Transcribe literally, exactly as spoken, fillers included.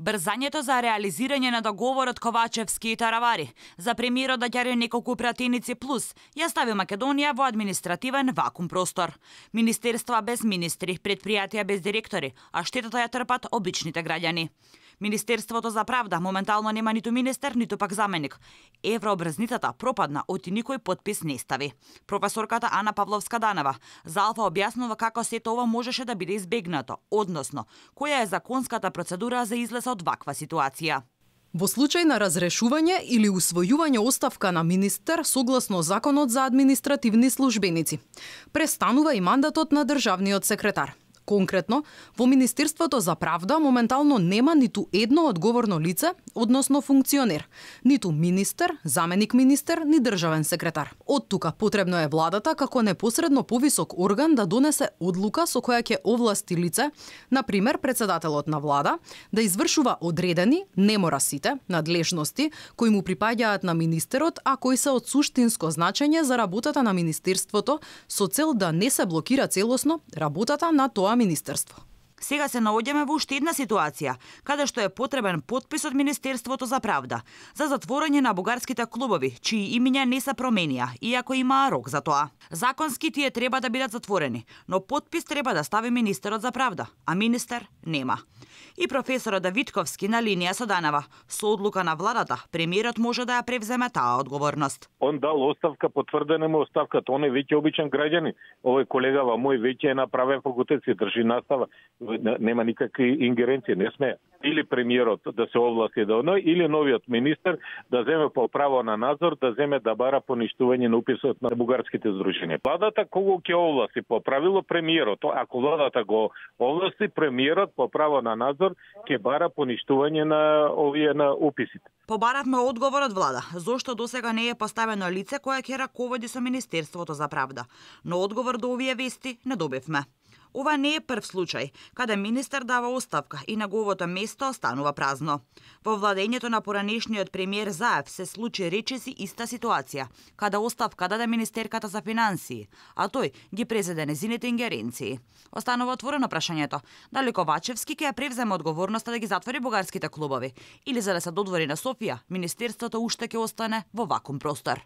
Брзањето за реализирање на договорот Ковачевски и Таравари за премиерот да ѓари неколку пратеници плюс ја стави Македонија во административен вакуум простор. Министерства без министри, предпријатија без директори, а штетата ја трпат обичните граѓани. Министерството за правда моментално нема ниту министер, ниту пак заменик. Еврообрзницата пропадна, оти никој подпис не стави. Професорката Ана Павловска-Данова за Алфа објаснува како сето ова можеше да биде избегнато, односно, која е законската процедура за излез од ваква ситуација. Во случај на разрешување или усвојување оставка на министер согласно Законот за административни службеници, престанува и мандатот на државниот секретар. Конкретно, во Министерството за правда моментално нема ниту едно одговорно лице, односно функционер, ниту министер, заменик министер, ни државен секретар. Од тука потребно е владата како непосредно повисок орган да донесе одлука со која ќе овласти лице, на пример председателот на влада, да извршува одредени, не мора сите, надлежности кои му припаѓаат на министерот, а кои се од суштинско значење за работата на министерството со цел да не се блокира целосно работата на тоа министерство. Сега се наоѓаме во уште една ситуација, каде што е потребен подпис од Министерството за правда за затворање на бугарските клубови, чии имиња не се променија, иако има рок за тоа. Законски тие треба да бидат затворени, но подпис треба да стави министерот за правда, а министер нема. И професорот Давидковски на линија со Данова, со одлука на владата, премиерот може да ја превземе таа одговорност. Он дал оставка, потврдена му оставката, он е веќе обичен граѓанин. Овој колегава мој веќе е направен факултет, се држи настава, нема никакви ингеренции, не сме. Или премиерот да се овласти да оној, или новиот министер да земе по право на надзор, да земе да бара поништување на уписот на бугарските здруженија. Владата кого ќе овласти по правило премиерот, ако владата го овласти, премиерот по право на надзор ќе бара поништување на овие на уписите. Побаравме одговор од влада, зошто досега не е поставено лице кое ќе раководи со Министерството за правда, но одговор до овие вести не добивме. Ова не е прв случај, каде министер дава оставка и неговото место останува празно. Во владењето на поранешниот премиер Заев се случи речиси иста ситуација, каде оставка даде министерката за финансии, а тој ги презеде незините ингеренции. Останува отворено прашањето, дали Ковачевски ќе ја превземе одговорноста да ги затвори бугарските клубови, или за да се додвори на Софија, министерството уште ќе остане во вакуум простор.